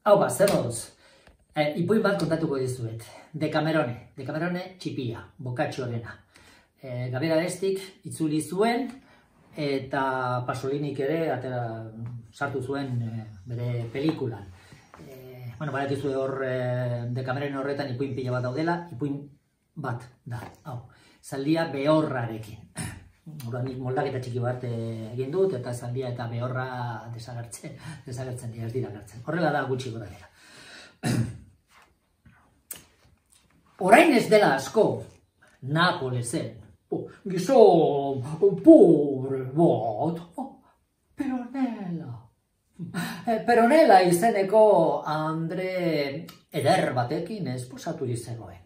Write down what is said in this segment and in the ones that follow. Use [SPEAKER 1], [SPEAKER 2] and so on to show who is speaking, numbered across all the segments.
[SPEAKER 1] Hau ba, zer moduz. Ipuin bat kontatuko dizuet. Dekamerone txipia, bokatxorena. Gabriel Arestik itzuli zuen, eta Pasolinik ere sartu zuen bere pelikulan. Badakizu hor Dekamerone horretan ipuin pila bat daudela, ipuin bat da, hau. Zaldia behorrarekin. Nik moldaketa txiki bat egin dut, eta zaldia eta behorra desagertzen dira, ez dira gertzen. Horrela da gutxi gora dira. Orain ez dela asko, Napolesen, gizon, pobre bat, Peronela izeneko Andre eder batekin esposatu zegoen.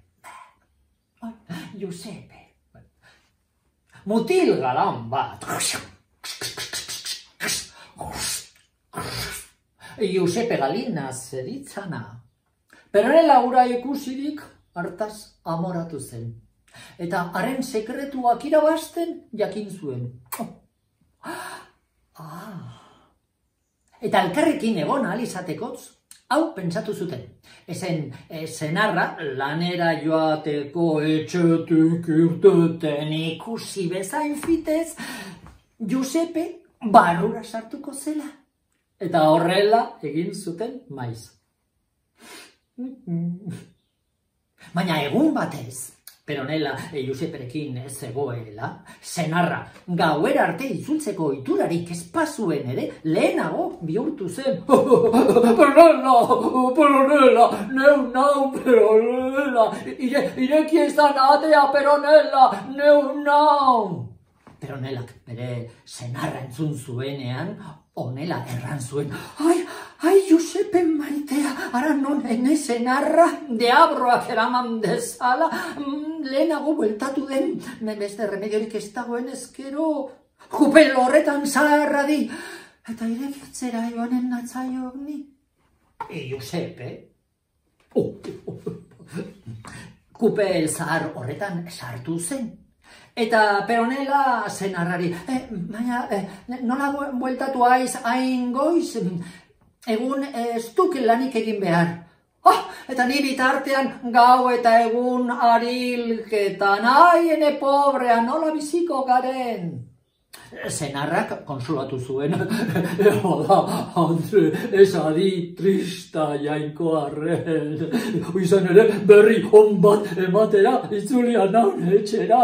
[SPEAKER 1] Giuseppe. Mutil galan bat. Giuseppe Galina zeritzana. Peronela ura ikusirik hartaz amoratu zen. Eta haren sekretuak irabazten jakin zuen. Eta elkarrekin egon ahal izatekotz, hau pentsatu zuten. Ezen senarra lanera joateko etxetik irteten ikusi bezain fitez, Giuseppe barrura sartuko zela. Eta horrela egin zuten maiz. Baina egun batez, Peronela Giusepperekin zegoela, senarra gauera arte itzultzeko iturarik espazuen ere lehenago bihurtu zen. Peronela, Peronela, ireki ezan atea, Peronela, nau. Peronelak bere senarra entzun zuenean, honela erran zuen. Ai, Giuseppe maitea, ara non ene senarra deabroak eraman dezala, lehenago bueltatu den, beste remediorik ez dagoen ezkero, kupel horretan zaharra di, eta irekitzera joanen natzaiok ni. Giuseppe, kupel zahar horretan sartu zen. Eta Peronela senarrari, baina nola bueltatu aiz hain goiz, egun ez duk lanik egin behar. Eta ni bitartean gau eta egun arilketan, ene pobrea, nola biziko garen. Senarrak konsolatu zuen, Andre, ez adi trista jainko arren. Izan ere berri hon bat ematera itzulia naun etxera.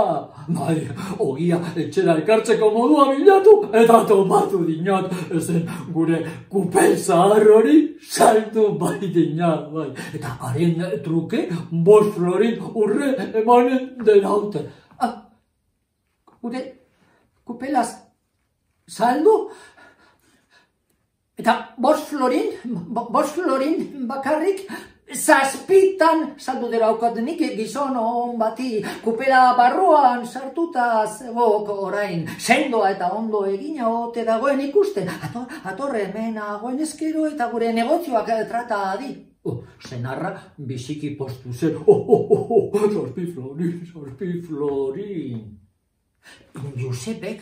[SPEAKER 1] Bai, ogia etxera ekartzeko modua bilatu eta tomatu dinat. Ezen gure kupel zahar hori saltu bai dinat. Bai. Eta haren truke 5 florin urre emanen denaute. Gure kupelaz saldu, eta 5 florin bakarrik, 7 saldu dira nik gizon hon bati, kupela barruan sartuta zegoko orain, sendoa eta ondo egina ote dagoen ikusten, atorre hemen agoen ezkero eta gure negozioak trata adi. Senarra biziki postu zen, 6 florin. Giuseppek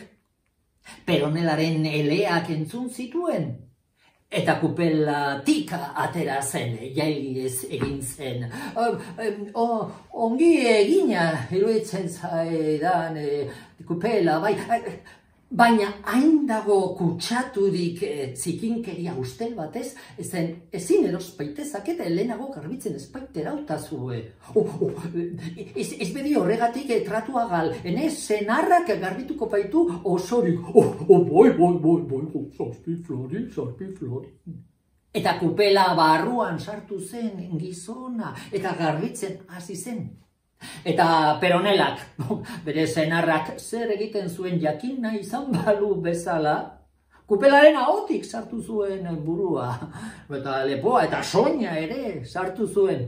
[SPEAKER 1] Peronelaren eleak entzun zituen, eta kupelatik atera zen, jailiez egin zen. Ongi egina iruditzen zaidan kupela, bai, baina hain dago kutsaturik zikinkeria ustel batez, ezin erospaitezak eta helenago garbitzen espaitera utazue. Ez bedi horregatik tratuagal, ene senarrak garbituko baitu osorik. Boi, 6 florin. Eta kupela barruan sartu zen gizona, eta garbitzen hasi zen. Eta Peronelak, bere senarrak zer egiten zuen jakin nahi izan balu bezala, kupelaren ahotik sartu zuen burua, eta lepoa eta soina ere sartu zuen.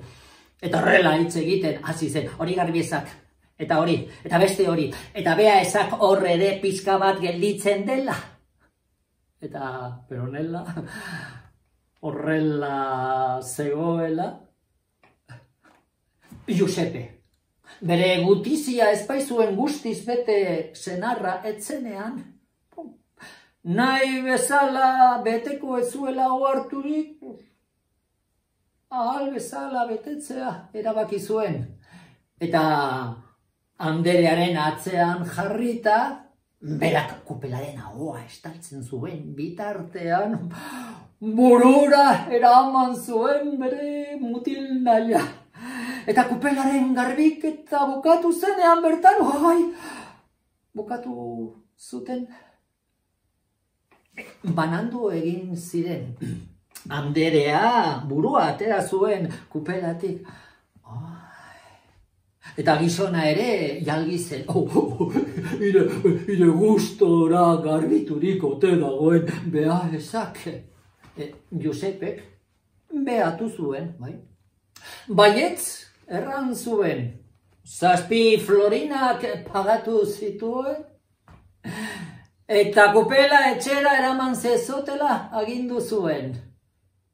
[SPEAKER 1] Eta horrela hitz egiten hasi zen, hori garbiezak, eta hori, eta beste hori, eta bea ezak horre ere pizka bat gelditzen dela. Eta Peronela horrela zegoela, Giuseppe. Bere gutizia espaizuen guztiz bete senarra etzenean, nahi bezala beteko ez zuela oharturik, ahal bezala betetzea erabaki zuen. Eta Anderearen atzean jarrita, berak kupelaren ahoa estaltzen zuen bitartean, burura eraman zuen bere mutil naila. Eta kupelaren garbiketa bukatu zenean bertan, bukatu zuten. Banandu egin ziren. Anderea burua atera zuen kupelatik. Eta gizona ere jalgi zen. Ire gustora garbiturik ote dagoen beha ezak. Josepek behatu zuen, bai? Baietz erran zuen. 7 florinak pagatu zituen. Eta kupela etxera eraman zezotela agindu zuen.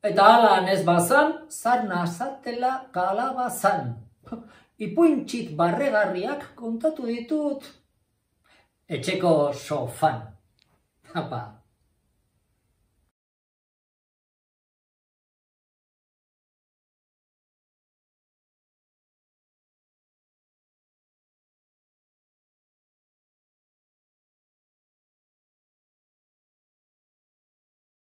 [SPEAKER 1] Eta alan ez bazan, zarna azatela kalabazan. Ipuintxit barregarriak kontatu ditut etxeko sofan. Apa.